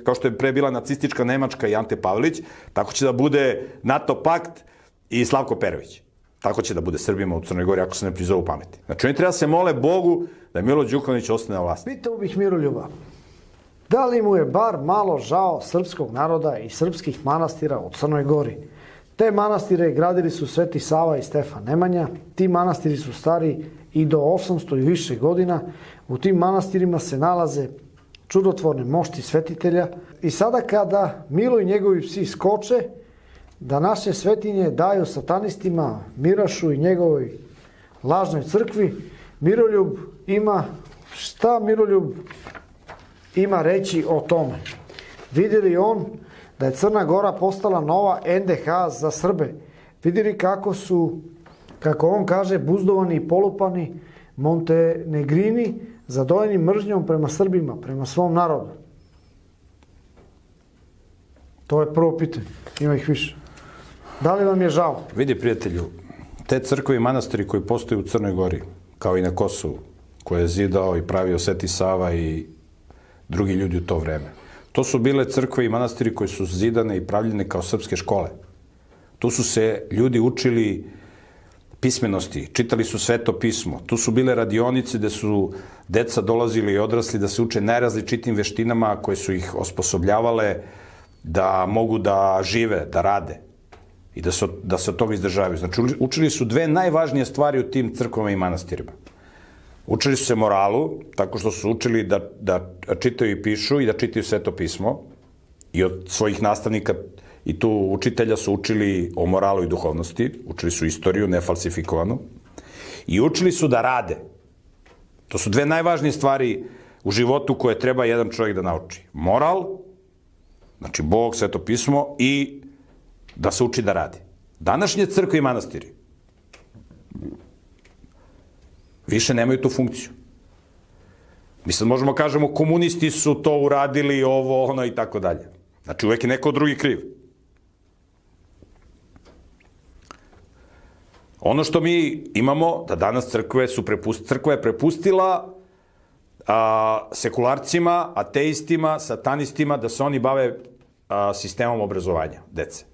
kao što je pre bila nacistička Nemačka i Ante Pavelić, tako će da bude NATO pakt i Slavko Perović. Tako će da bude Srbima u Crnoj Gori ako se ne prizovu pameti. Znači oni treba se mole Bogu da Milo Đukanović ostane na vlasti. Pitao bih Miroljuba, da li mu je bar malo žao srpskog naroda i srpskih manastira u Crnoj Gori? Te manastire gradili su Sveti Sava i Stefan Nemanja. Ti manastiri su stari i do 800 i više godina. U tim manastirima se nalaze čudotvorne mošti svetitelja. I sada kada Milo i njegovi psi skoče, da naše svetinje daju satanistima, Mirašu i njegovoj lažnoj crkvi, Miroljub ima, šta Miroljub ima reći o tome? Vidi li on da je Crna Gora postala nova NDH za Srbe? Vidi li kako su, kako on kaže, buzdovani i polupani montenegrini zadojeni mržnjom prema Srbima, prema svom narodu? To je prvo pitanje. Ima ih više. Da li vam je žao? Vidi, prijatelju, te crkve i manastiri koji postoje u Crnoj Gori, kao i na Kosovu, koje je zidao i pravio Sveti Sava i drugi ljudi u to vreme, to su bile crkve i manastiri koji su zidane i pravljene kao srpske škole. Tu su se ljudi učili pismenosti, čitali su Sveto pismo. Tu su bile radionice gde su deca dolazili i odrasli da se uče najrazličitim veštinama koje su ih osposobljavale da mogu da žive, da rade i da se od toga izdržavaju. Znači, učili su dve najvažnije stvari u tim crkvama i manastirima. Učili su se moralu, tako što su učili da čitaju i pišu i da čitaju Sveto pismo. I od svojih nastavnika i tu učitelja su učili o moralu i duhovnosti. Učili su istoriju, nefalsifikovanu. I učili su da rade. To su dve najvažnije stvari u životu koje treba jedan čovjek da nauči. Moral, znači Bog, Sveto pismo i da se uči da radi. Današnje crkve i manastiri više nemaju tu funkciju. Mi sad možemo kažemo komunisti su to uradili, ovo, ono i tako dalje. Znači uvek je neko drugi kriv. Ono što mi imamo, da danas crkva je prepustila sekularcima, ateistima, satanistima, da se oni bave sistemom obrazovanja dece.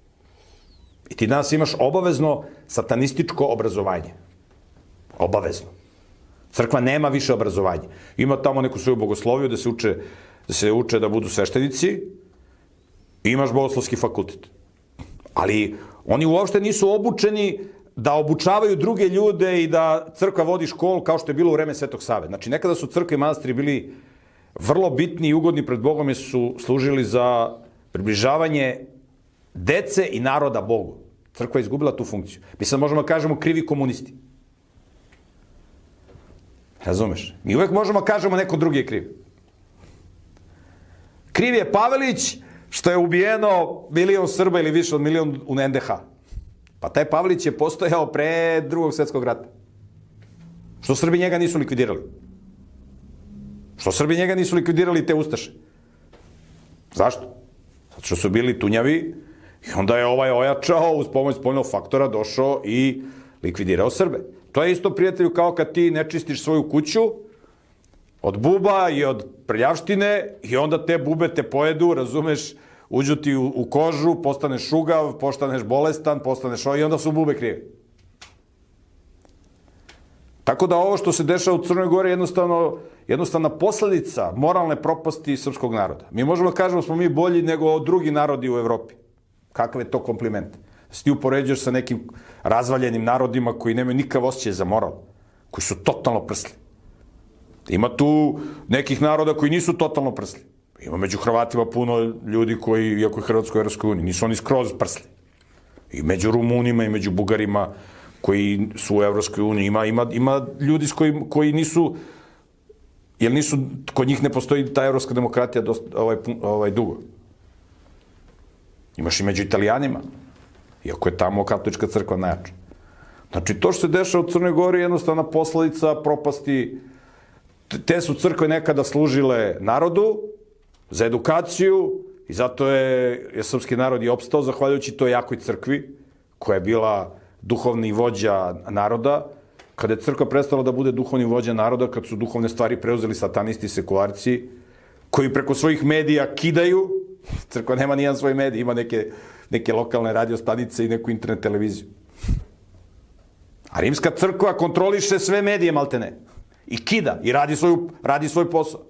I ti danas imaš obavezno satanističko obrazovanje. Obavezno. Crkva nema više obrazovanja. Ima tamo neku svoju bogosloviju da se uče da budu sveštenici i imaš bogoslovski fakultet. Ali oni uopšte nisu obučeni da obučavaju druge ljude i da crkva vodi školu kao što je bilo u vreme Svetog Save. Znači, nekada su crkve i manastiri bili vrlo bitni i ugodni pred Bogom jer su služili za približavanje dece i naroda Bogu. Crkva je izgubila tu funkciju. Mi sad možemo da kažemo krivi komunisti. Razumeš? Mi uvek možemo da kažemo neko drugi je kriv. Kriv je Pavelić što je ubijeno 1.000.000 Srba ili više od 1.000.000 u NDH. Pa taj Pavelić je postojao pre Drugog svjetskog rata. Što Srbi njega nisu likvidirali? Što Srbi njega nisu likvidirali te ustaše? Zašto? Zato što su bili tunjavi i onda je ovaj ojačao uz pomoć spoljnog faktora došao i likvidirao Srbe. To je isto, prijatelju, kao kad ti ne čistiš svoju kuću od buba i od prljavštine i onda te bube te pojedu, razumeš, uđu ti u kožu, postaneš šugav, postaneš bolestan, postaneš i onda su bube krive. Tako da ovo što se dešava u Crnoj Gori je jednostavna posledica moralne propasti srpskog naroda. Mi možemo da kažemo smo mi bolji nego drugi narodi u Evropi. Kakav je to kompliment? Se ti upoređuješ sa nekim razvaljenim narodima koji nemaju nikakav osjećaj za moral, koji su totalno prsli. Ima tu nekih naroda koji nisu totalno prsli. Ima među Hrvatima puno ljudi koji, iako je Hrvatsko u Evropskoj uniji, nisu oni skroz prsli. I među Rumunima i među Bugarima koji su u Evropskoj uniji. Ima ljudi koji nisu, jer nisu, kod njih ne postoji ta evropska demokratija dugo. Imaš i među Italijanima, iako je tamo katolička crkva najjača. Znači, to što se dešava u Crnoj Gori je jednostavna posledica propasti. Te su crkve nekada služile narodu za edukaciju i zato je srpski narod i opstao zahvaljujući toj jakoj crkvi koja je bila duhovni vođa naroda. Kada je crkva prestala da bude duhovni vođa naroda, kad su duhovne stvari preuzeli satanisti i sekularci, koji preko svojih medija kidaju. Crkva nema nijedan svoj medij, ima neke lokalne radio stanice i neku internet televiziju. A rimska crkva kontroliše sve medije, maltene. I kida, i radi svoj posao.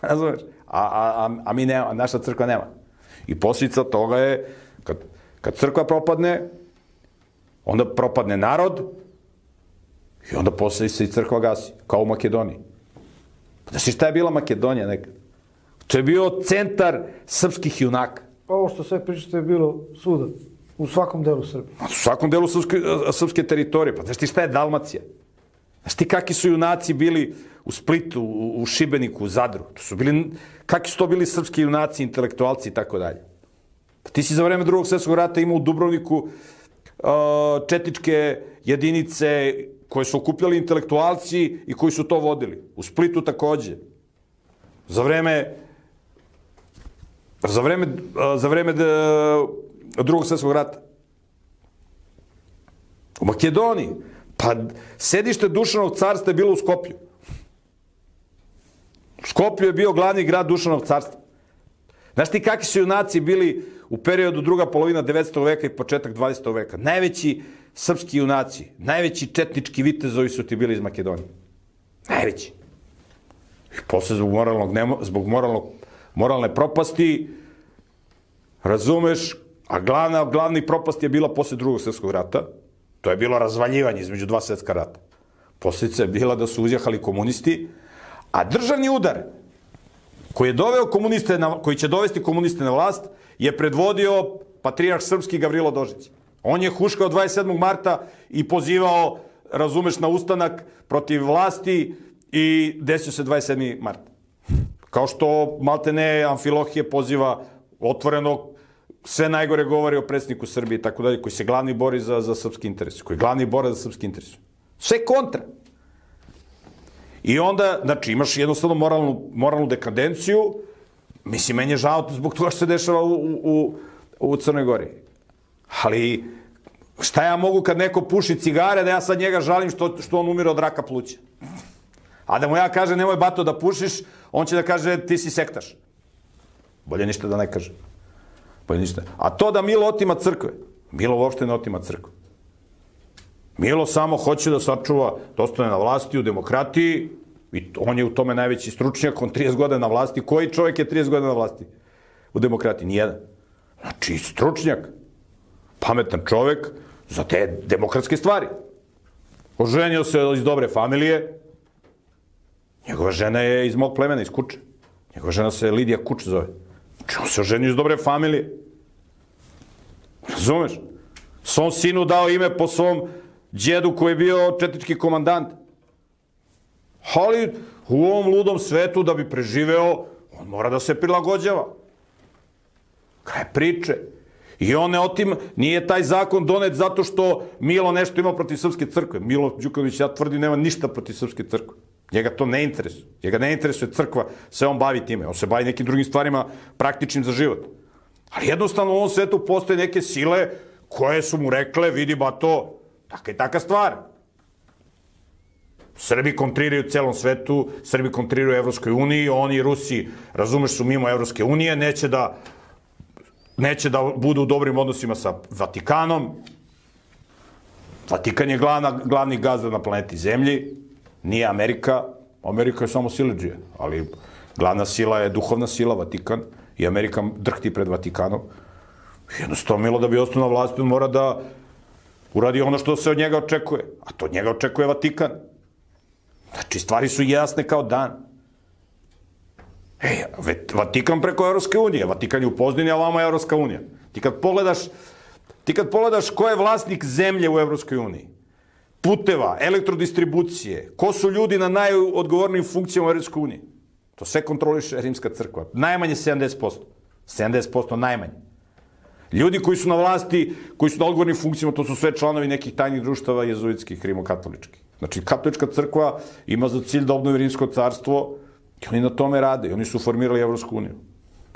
Razumeš? A mi nema, naša crkva nema. I posljedica toga je, kad crkva propadne, onda propadne narod i onda posle se i crkva gasi, kao u Makedoniji. Pa znaš šta je bila Makedonija nekad? To je bio centar srpskih junaka. Pa ovo što sve pričate je bilo svuda, u svakom delu Srbije. U svakom delu srpske teritorije. Pa znaš ti šta je Dalmacija? Znaš ti kakvi su junaci bili u Splitu, u Šibeniku, u Zadru? Kakvi su to bili srpski junaci, intelektualci i tako dalje? Pa ti si za vreme Drugog svjetskog rata imao u Dubrovniku četničke jedinice koje su okupljali intelektualci i koji su to vodili. U Splitu takođe. Za vreme Drugog svjetskog rata. U Makedoniji. Pa sedište Dušanovog carstva je bilo u Skoplju. U Skoplju je bio glavni grad Dušanovog carstva. Znaš ti kakvi su junaci bili u periodu druga polovina 19. veka i početak 20. veka? Najveći srpski junaci, najveći četnički vitezovi su ti bili iz Makedonije. Najveći. I posle zbog moralne propasti, razumeš, a glavni propast je bila posle Drugog svjetskog rata. To je bilo razvaljivanje između dva svjetska rata. Posljedica je bila da su uzjahali komunisti, a državni udar koji će dovesti komuniste na vlast je predvodio patrijarh srpski Gavrilo Dožić. On je huškao 27. marta i pozivao, razumeš, na ustanak protiv vlasti i desio se 27. mart. Kao što maltene Amfilohije poziva otvoreno, sve najgore govori o predsjedniku Srbije i tako dalje, koji se glavni bori za srpski interes, koji glavni bore za srpski interes. Sve kontra. I onda, znači, imaš jednostavno moralnu dekadenciju. Mislim, meni je žao zbog toga što se dešava u Crnoj Gori. Ali, šta ja mogu kad neko puši cigare, da ja sad njega žalim što on umire od raka pluća? A da mu ja kažem, nemoj bato da pušiš, on će da kaže, ti si sektaš. Bolje ništa da ne kaže. Bolje ništa. A to da Milo otima crkve, Milo uopšte ne otima crkve. Milo samo hoće da sačuva, da ostane na vlasti u demokratiji, i on je u tome najveći stručnjak, on 30 godina na vlasti. Koji čovjek je 30 godina na vlasti u demokratiji? Nijedan. Znači, stručnjak, pametan čovjek za te demokratske stvari. Oženio se iz dobre familije, njegova žena je iz mog plemena, iz Kuče. Njegova žena se Lidija Kuč zove. Znači, on se oženio iz dobre familije. Razumeš? Svom sinu dao ime po svom djedu koji je bio četnički komandant. Ali u ovom ludom svetu da bi preživeo, on mora da se prilagođava. Kraj priče. I on ne otima, nije taj zakon donet zato što Milo nešto ima protiv srpske crkve. Milo Đukanović, ja tvrdim, nema ništa protiv srpske crkve. Njega to ne interesuje. Njega ne interesuje crkva, se on bavi time. On se bavi nekim drugim stvarima praktičnim za život. Ali jednostavno u ovom svetu postoje neke sile koje su mu rekle, vidi ba to, taka i taka stvar. Srbi kontriraju celom svetu, Srbi kontriraju Evropskoj uniji, oni i Rusi, razumeš, su mimo Evropske unije, neće da budu u dobrim odnosima sa Vatikanom. Vatikan je glavni gazda na planeti Zemlji, nije Amerika. Amerika je samo siledžija, ali glavna sila je duhovna sila, Vatikan, i Amerika drhti pred Vatikanom. Jednostavno, Milo da bi ostao na vlasti, on mora da uradi ono što se od njega očekuje. A to od njega očekuje Vatikan. Znači, stvari su jasne kao dan. Vatikan preko Evropske unije. Vatikan je u Pozdini, a vama je Evropska unija. Ti kad pogledaš ko je vlasnik zemlje u Evropskoj uniji, puteva, elektrodistribucije, ko su ljudi na najodgovornijim funkcijama u Evropskoj uniji, to sve kontroliše Rimska crkva. Najmanje 70%. 70% najmanje. Ljudi koji su na vlasti, koji su na odgovornim funkcijama, to su sve članovi nekih tajnih društava jezuitskih, rimokatoličkih. Znači, katolička crkva ima za cilj da obnovi Rimsko carstvo i oni na tome rade. I oni su formirali Evropsku uniju.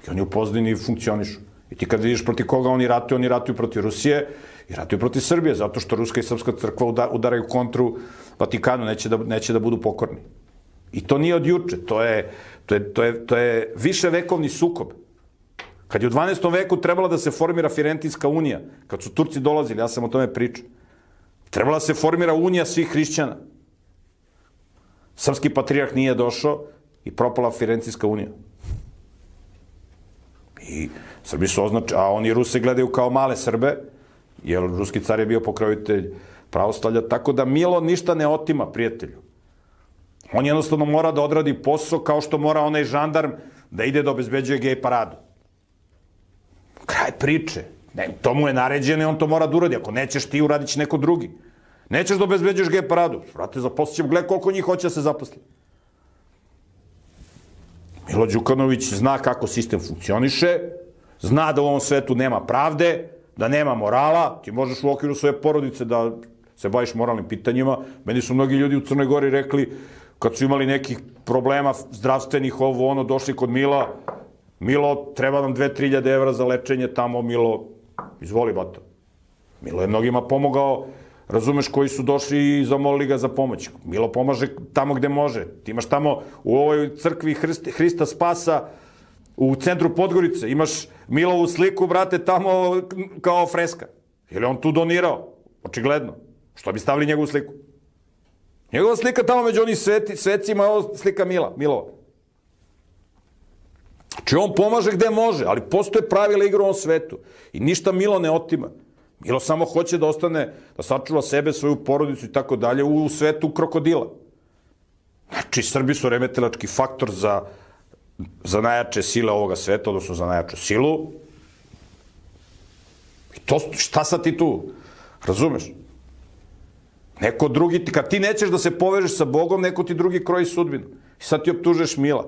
I oni u Pozdini funkcionišu. I ti kad vidiš protiv koga oni ratuju protiv Rusije i ratuju protiv Srbije, zato što Ruska i Srpska crkva udaraju kontru Vatikanu, neće da budu pokorni. I to nije od juče, To je viševekovni sukob. Kad je u 12. veku trebala da se formira Firentinska unija, kad su Turci dolazili, ja sam o tome pričao, trebala da se formira unija svih hrišćana. Srpski patrijarh nije došao i propala Firentinska unija. I Srbi su a oni Ruse gledaju kao male Srbe, jer ruski car je bio pokrovitelj pravoslavlja, tako da Milo ništa ne otima prijatelju. On jednostavno mora da odradi posao kao što mora onaj žandarm da ide da obezbeđuje gej paradu. Kraj priče. To mu je naređeno i on to mora da uradi. Ako nećeš ti, uradit će neko drugi. Nećeš da obezbeđuješ gej paradu. Vrate, zaposlit ćemo, gledaj koliko njih hoće da se zaposli. Milo Đukanović zna kako sistem funkcioniše, zna da u ovom svetu nema pravde, da nema morala, ti možeš u okviru svoje porodice da se baviš moralnim pitanjima. Meni su mnogi ljudi u Crnoj Gori rekli, kad su imali nekih problema zdravstvenih, došli kod Mila, Milo, treba nam 2-3 evra za lečenje tamo, Milo, izvoli bato. Milo je mnogima pomogao, razumeš, koji su došli i zamolili ga za pomoć. Milo pomaže tamo gde može. Ti imaš tamo u ovoj crkvi Hrista Spasa u centru Podgorice, imaš Milovu sliku, brate, tamo kao freska. Je li on tu donirao? Očigledno. Što bi stavili njegovu sliku? Njegova slika tamo među onih svecima je ovo slika Milova. Znači on pomaže gde može, ali postoje pravila igre u ovom svetu. I ništa Milo ne otima. Milo samo hoće da ostane, da sačuva sebe, svoju porodicu i tako dalje u svetu krokodila. Znači, Srbi su remetilački faktor za najjače sile ovoga sveta, odnosno za najjaču silu. I to, šta sad ti tu? Razumeš? Neko drugi, kad ti nećeš da se povežeš sa Bogom, neko ti drugi kroji sudbinu. I sad ti optužuješ Mila.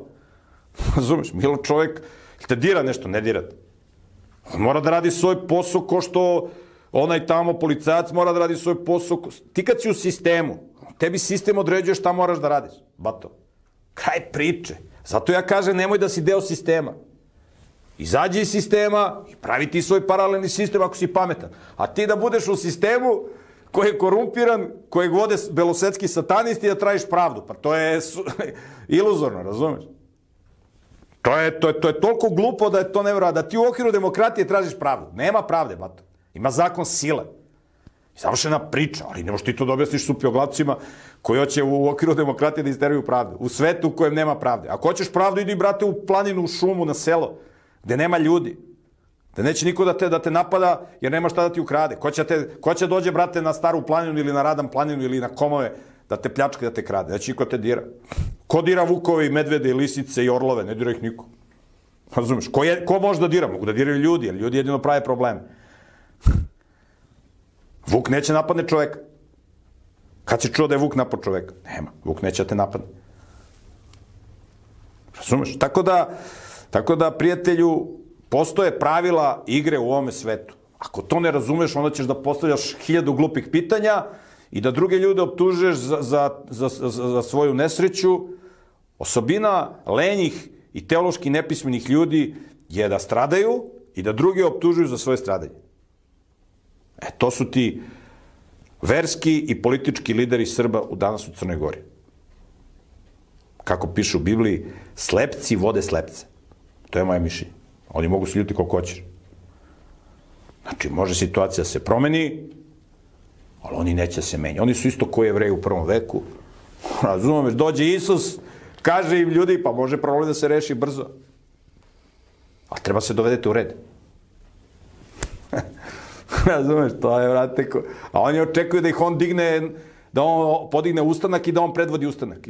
Razumeš? Milo čovjek, te dira nešto, ne dira te. On mora da radi svoj posao ko što onaj tamo policajac mora da radi svoj posao. Ti kad si u sistemu, tebi sistem određuje šta moraš da radiš. Bato. Kraj priče. Zato ja kažem, nemoj da si deo sistema. Izađi iz sistema i pravi ti svoj paralelni sistem ako si pametan. A ti da budeš u sistemu koji je korumpiran, kojeg vode belosvetski satanisti da tražiš pravdu. Pa to je iluzorno, razumeš? To je toliko glupo da je to nevjerojatno. Da ti u okviru demokratije tražiš pravdu. Nema pravde, bato. Ima zakon sile. Završena priča, ali ne možeš ti to da objasniš supioglavcima koji hoće u okviru demokratije da isteraju pravdu. U svetu u kojem nema pravde. Ako hoćeš pravdu, idi, brate, u planinu, u šumu, na selo, gde nema ljudi. Da neće niko da te napada jer nema šta da ti ukrade. Ko će dođe, brate, na Staru planinu ili na Radan planinu ili na Komove da te pljačka, da te krade. Neće niko te dira. Ko dira vukove i medvede i lisice i orlove? Ne dira ih niko. Razumeš? Ko može da dira? Mogu da diraju ljudi, jer ljudi jedino prave probleme. Vuk neće napadne čoveka. Kad si čuo da je Vuk napad čoveka? Nema. Vuk neće da te napadne. Razumeš? Tako da, prijatelju, postoje pravila igre u ovome svetu. Ako to ne razumeš, onda ćeš da postavljaš 1000 glupih pitanja i da druge ljude optužuješ za svoju nesreću. Osobina lenjih i teološki nepismenih ljudi je da stradaju i da drugi optužuju za svoje stradanje. To su ti verski i politički lideri Srba danas u Crnoj Gori. Kako piše u Bibliji, slepci vode slepce. To je moje mišljenje. Oni mogu se ljuti koliko hoćeš. Znači, može situacija da se promeni, ali oni neće se menjati. Oni su isto koji Jevreji u prvom veku. Razumeš, dođe Isus, kaže im ljudi, pa može problem da se reši brzo. Ali treba se dovedete u red. Razumeš, to je, vrate, a oni očekuju da ih on digne, da on podigne ustanak i da on predvodi ustanak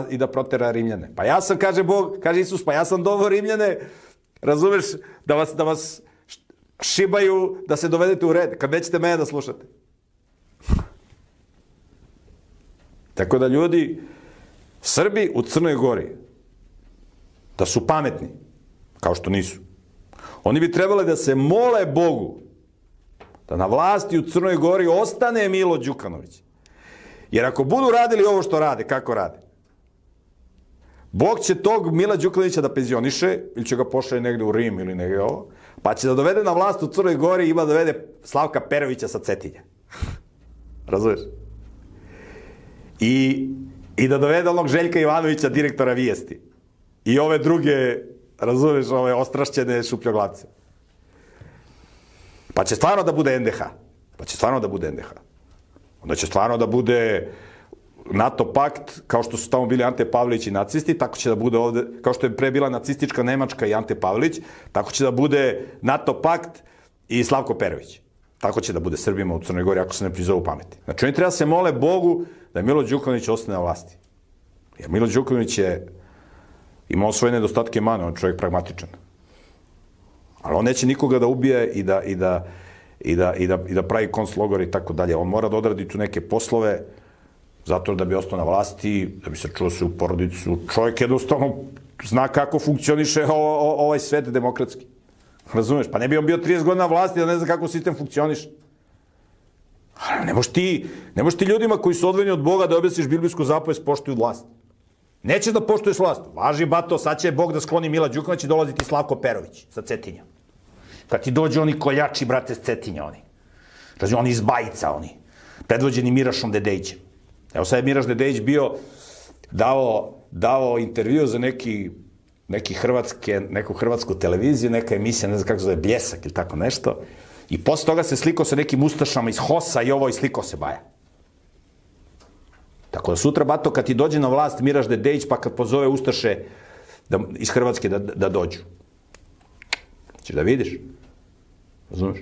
i da protera Rimljane. Pa ja sam, kaže Bog, kaže Isus, pa ja sam doveo Rimljane, razumeš, da vas šibaju, da se dovedete u red, kad nećete mene da slušate. Tako da ljudi, Srbi u Crnoj Gori, da su pametni, kao što nisu, oni bi trebali da se mole Bogu da na vlasti u Crnoj Gori ostane Milo Đukanović. Jer ako budu radili ovo što rade, kako rade, Bog će tog Mila Đukanovića da penzioniše, ili će ga pošalje negde u Rim ili negde ovo, pa će da dovede na vlast u Crnoj Gori i ima da dovede Slavka Perovića sa Cetinja. Razumeš? I da dovede onog Željka Ivanovića, direktora Vijesti. i ove druge, razumeš, ove ostrašćene šupljoglavce. Pa će stvarno da bude NDH. Onda će stvarno da bude NATO pakt, kao što su tamo bili Ante Pavelić i nacisti, tako će da bude ovde, kao što je pre bila nacistička Nemačka i Ante Pavelić, tako će da bude NATO pakt i Slavko Perović. Tako će da bude Srbima u Crnoj Gori, ako se ne prizovu pameti. Znači, oni treba se mole Bogu da Milo Đukanović ostane na vlasti. Jer Milo Đukanović je imao svoje nedostatke i mane, on je čovjek pragmatičan. Ali on neće nikoga da ubije i da pravi konclogor i tako dalje. On mora da odradi tu neke poslove zato da bi ostao na vlasti, da bi se čuo se u porodicu. Čovjek jednostavno zna kako funkcioniše ovaj svet demokratski. Razumeš? Pa ne bi on bio 30 godina na vlasti da ne zna kako sistem funkcioniše. Ali ne možeš ti ljudima koji su odvojeni od Boga da objasniš biblijsku zapovest poštuju vlast. Nećeš da poštuješ vlast. Važi, bato, sad će Bog da skloni Mila Đukanović i dolaziti Slavko Perović sa Cetinja. Kad ti dođu oni koljači, brate, s Cetinja, oni. Razumiješ, oni iz Bajica, oni. Predvođeni Mirašom Dedejićem. Evo sad je Miraš Dedejić bio dao intervju za neku hrvatsku televiziju, neka emisija, ne znam kako se zove, Bljesak ili tako nešto. I posle toga se slikao sa nekim ustašama iz HOS-a i ovo i slikao se Baja. Tako da sutra, bato, kad ti dođe na vlast Miraš Dedejić, pa kad pozove ustaše iz Hrvatske da dođu. Češ da vidiš? Razumeš?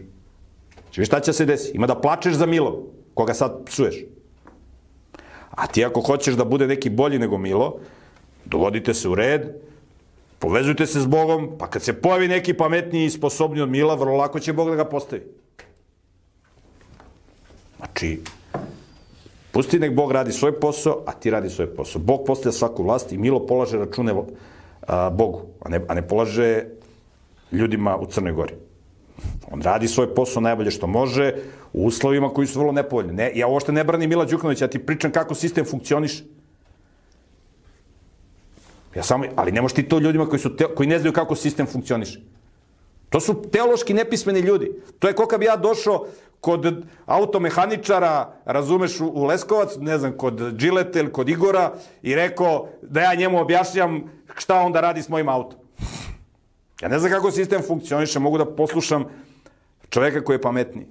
Češ vidiš šta će se desi? Ima da plačeš za Milom, koga sad psuješ. A ti ako hoćeš da bude neki bolji nego Milo, dovodite se u red, povezujte se s Bogom, pa kad se pojavi neki pametniji i sposobniji od Mila, vrlo lako će Bog da ga postavi. Znači, pusti nek Bog radi svoj posao, a ti radi svoj posao. Bog postavlja svaku vlast i Milo polaže račune Bogu, a ne polaže ljudima u Crnoj Gori. On radi svoj posao najbolje što može, u uslovima koji su vrlo nepovoljni. Ja uopšte ne branim Mila Đukanovića, ja ti pričam kako sistem funkcioniše. Ali ne možeš ti to ljudima koji ne znaju kako sistem funkcioniše. To su teološki nepismeni ljudi. To je koliko bi ja došao kod automehaničara, razumeš, u Leskovac, ne znam, kod Džileta ili kod Igora i rekao da ja njemu objašnjam šta on da radi s mojim autom. Ja ne znam kako sistem funkcioniše, mogu da poslušam čoveka koji je pametniji.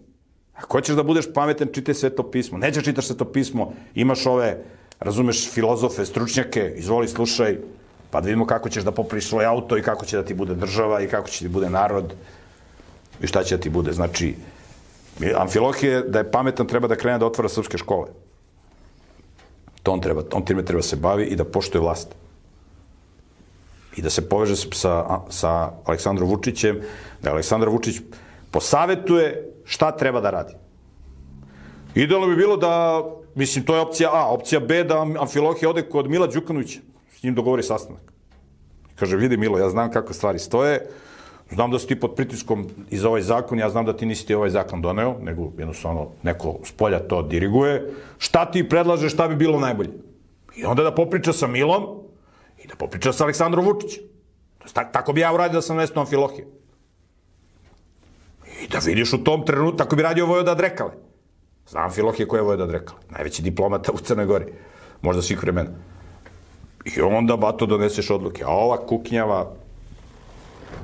Ako hoćeš da budeš pametan, čitaj Sveto pismo. Nećeš čitaš Sveto pismo, imaš ove, razumeš, filozofe, stručnjake, izvoli, slušaj, pa da vidimo kako ćeš da popraviš svoj auto i kako će da ti bude država i kako će ti bude narod i šta će da ti bude. Znači, Amfilohije, da je pametan, treba da krene da otvara srpske škole. On time treba se bavi i da poštuje vlast. I da se poveže sa Aleksandrom Vučićem, da Aleksandar Vučić posavetuje šta treba da radi. Idealno bi bilo da, mislim, to je opcija A, opcija B, da Amfilohije ode kod Mila Đukanovića, s njim dogovori sastanak. Kaže, vidi Milo, ja znam kako stvari stoje, znam da si ti pod pritiskom iz ovaj zakon, ja znam da ti nisi ti ovaj zakon doneo, nego jednostavno neko s polja to diriguje. Šta ti predlažeš, šta bi bilo najbolje? I onda da popriča sa Milom i da popriča sa Aleksandrom Vučićem. Tako bi ja uradio da sam mesto Amfilohije. I da vidiš u tom trenutku, tako bi radio Vojvoda Drekale. Znam Amfilohije ko je Vojvoda Drekale. Najveći diplomata u Crnoj Gori. Možda svih vremena. I onda, bato, doneseš odluke. A ova kuknjava,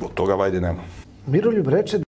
od toga vajde nema. Miroljub reče